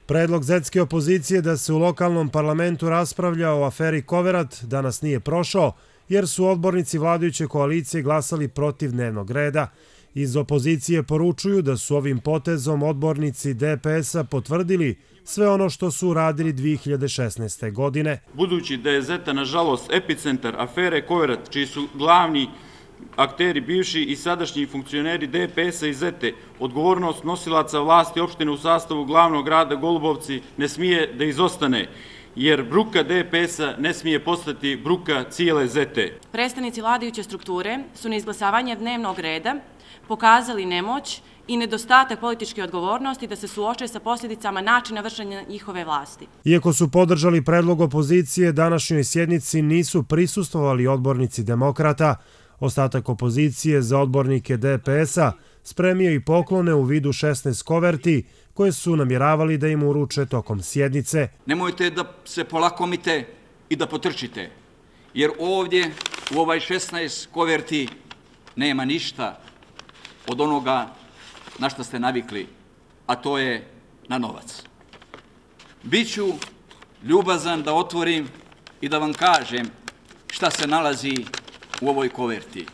Predlog zetske opozicije da se u lokalnom parlamentu raspravlja o aferi Koverat danas nije prošao, jer su odbornici vladajuće koalicije glasali protiv dnevnog reda. Iz opozicije poručuju da su ovim potezom odbornici DPS-a potvrdili sve ono što su uradili 2016. godine. Budući da je Zeta, nažalost, epicentar afere Koverat, čiji su glavni akteri bivši i sadašnji funkcioneri DPS-a i Zete, odgovornost nosilaca vlasti opštine u sastavu glavnog grada Golubovci ne smije da izostane, jer bruka DPS-a ne smije postati bruka cijele Zete. Predstavnici vladajuće strukture su na izglasavanje dnevnog reda pokazali nemoć i nedostatak političke odgovornosti da se suoče sa posljedicama načina vršenja njihove vlasti. Iako su podržali predlog opozicije, današnjoj sjednici nisu prisustvovali odbornici demokrata. Ostatak opozicije za odbornike DPS-a spremio i poklone u vidu 16 koverti koje su namjeravali da im uruče tokom sjednice. Nemojte da se polakomite i da potrčite, jer ovdje u ovaj 16 koverti nema ništa od onoga na što ste navikli, a to je na novac. Biću ljubazan da otvorim i da vam kažem šta se nalazi u ovoj koverti.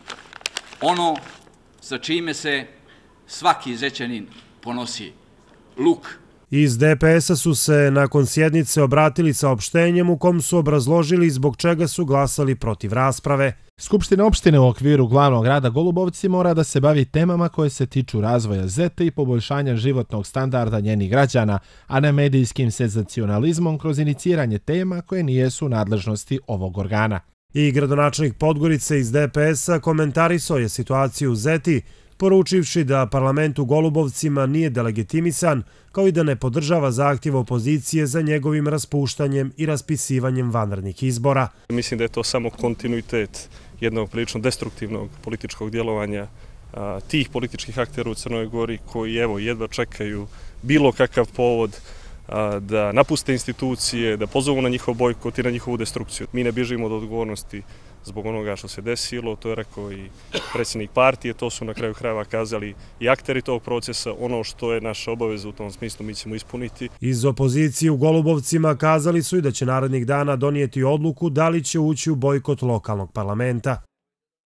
Ono sa čime se svaki Zećanin ponosi. Luk. Iz DPS-a su se nakon sjednice obratili saopštenjem u kom su obrazložili zbog čega su glasali protiv rasprave. Skupština opštine u okviru glavnog grada Golubovci mora da se bavi temama koje se tiču razvoja Zete i poboljšanja životnog standarda njenih građana, a ne medijskim senzacionalizmom kroz iniciranje tema koje nijesu u nadležnosti ovog organa. I gradonačelnik Podgorice iz DPS-a komentarisao je situaciju u Zeti, poručivši da parlament u Golubovcima nije delegitimisan, kao i da ne podržava zahtjev opozicije za njegovim raspuštanjem i raspisivanjem vanrednih izbora. Mislim da je to samo kontinuitet jednog prilično destruktivnog političkog djelovanja tih političkih aktera u Crnoj Gori koji jedva čekaju bilo kakav povod da napuste institucije, da pozovu na njihov bojkot i na njihovu destrukciju. Mi ne bježimo od odgovornosti zbog onoga što se desilo, to je rekao i predsjednik partije, to su na kraju krajeva kazali i akteri tog procesa, ono što je naša obaveza u tom smislu mi ćemo ispuniti. Iz opozicije u Golubovcima kazali su i da će narednih dana donijeti odluku da li će ući u bojkot lokalnog parlamenta.